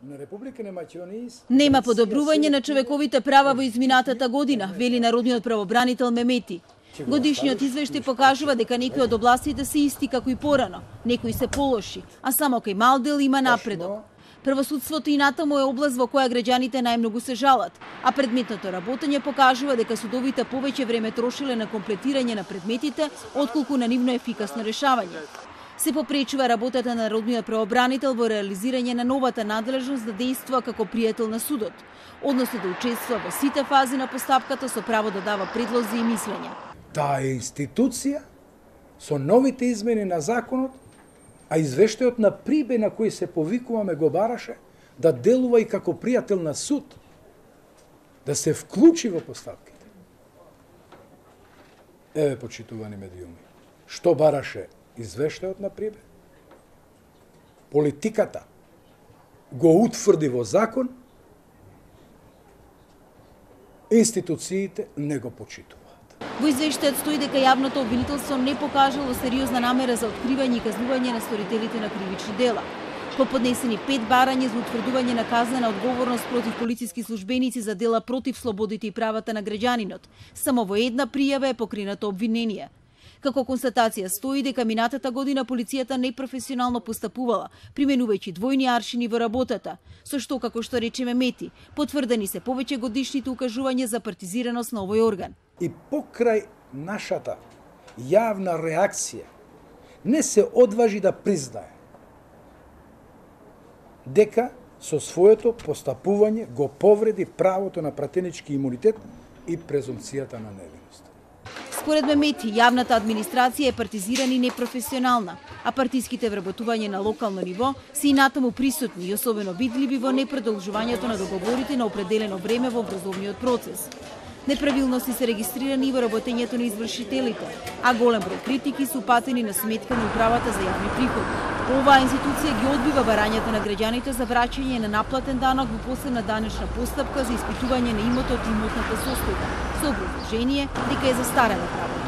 Нема подобрување на човековите права во изминатата година, вели народниот правобранител Мемети. Годишниот извештај покажува дека некои од областите се исти како и порано, некои се полоши, а само кај мал дел има напредок. Правосудството и натаму е област во која граѓаните најмногу се жалат, а предметното работење покажува дека судовите повеќе време трошиле на комплетирање на предметите, отколку на нивно ефикасно решавање. Се попречува работата на народниот правобранител во реализирање на новата надлежност да действува како пријател на судот, односно да учествува во сите фази на постапката со право да дава предлози и мислења. Таа е институција со новите измени на законот, а извештајот на Прибе на кој се повикуваме го бараше да делува и како пријател на суд, да се вклучи во постапките. Еве, почитувани медиуми, што бараше извештајот на Прибе? Политиката го утврди во закон, институциите не го почитуваат. Во извештајот стои дека јавното обвинителство не покажало сериозна намера за откривање и казнување на сторителите на кривични дела. По поднесени 5 барања за утврдување на казнена одговорност против полициски службеници за дела против слободите и правата на граѓанинот, само во една пријава е покренато обвинение. Како констатација стои дека минатата година полицијата непрофесионално постапувала, применувајќи двојни аршини во работата, со што, како што рече Мемети, потврдени се повеќе годишните укажувања за партизираност на овој орган. И покрај нашата јавна реакција не се одважи да признае дека со своето постапување го повреди правото на пратенички имунитет и презумцијата на невиност. Според Мемети, јавната администрација е партизирана и непрофесионална, а партиските вработувања на локално ниво се и натаму присутни и особено видливи во непродолжувањето на договорите на определено време во образовниот процес. Неправилности се регистрирани и во работењето на извршителите, а голем број критики се упатени на сметка на управата за јавни приходи. Оваа институција ги одбива барањата на граѓаните за враќање на наплатен данок во посебна данечна постапка за испитување на имотот и имотната состојба, со образложение дека е застарена права.